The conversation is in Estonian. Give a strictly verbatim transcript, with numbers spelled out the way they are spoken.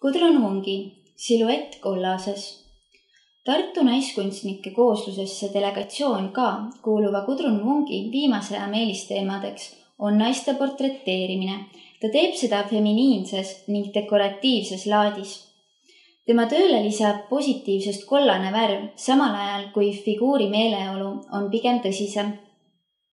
Gudrun Mungi, siluett kollases. Tartu naiskunstnike kooslusesse delegatsioon ka kuuluva Gudrun Mungi viimase aja meelisteemadeks on naiste portreteerimine. Ta teeb seda feminiinses ning dekoratiivses laadis. Tema tööle lisab positiivsest kollane värv, samal ajal kui figuuri meeleolu on pigem tõsisem.